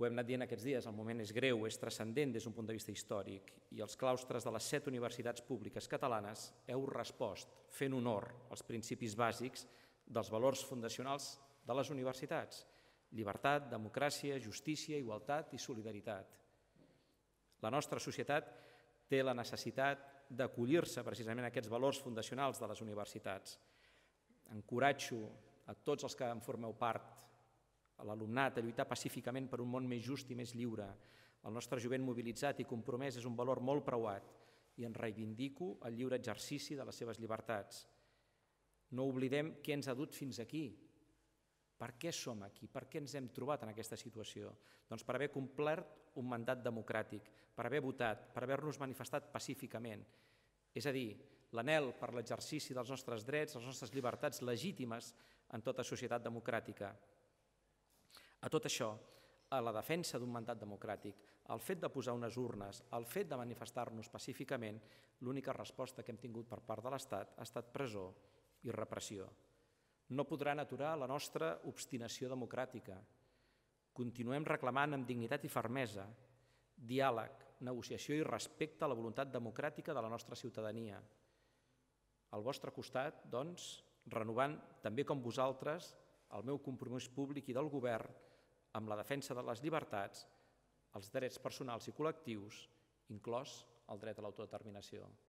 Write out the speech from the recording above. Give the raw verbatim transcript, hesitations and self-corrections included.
Ho hem anat dient aquests dies, el moment és greu, és transcendent des d'un punt de vista històric i els claustres de les set universitats públiques catalanes heu respost fent honor als principis bàsics dels valors fundacionals de les universitats: llibertat, democràcia, justícia, igualtat i solidaritat. La nostra societat té la necessitat d'acollir-se precisament a aquests valors fundacionals de les universitats. Encoratjo a tots els que en formeu part, a l'alumnat, a lluitar pacíficament per un món més just i més lliure. El nostre jovent mobilitzat i compromès és un valor molt preuat i en reivindico el lliure exercici de les seves llibertats. No oblidem què ens ha dut fins aquí. Per què som aquí? Per què ens hem trobat en aquesta situació? Doncs per haver complert un mandat democràtic, per haver votat, per haver-nos manifestat pacíficament. És a dir, l'anhel per l'exercici dels nostres drets, les nostres llibertats legítimes en tota societat democràtica. A tot això, a la defensa d'un mandat democràtic, el fet de posar unes urnes, el fet de manifestar-nos pacíficament, l'única resposta que hem tingut per part de l'Estat ha estat presó i repressió. No podran aturar la nostra obstinació democràtica. Continuem reclamant amb dignitat i fermesa diàleg, negociació i respecte a la voluntat democràtica de la nostra ciutadania. Al vostre costat, doncs, renovant també com vosaltres el meu compromís públic i del govern amb la defensa de les llibertats, els drets personals i col·lectius, inclòs el dret a l'autodeterminació.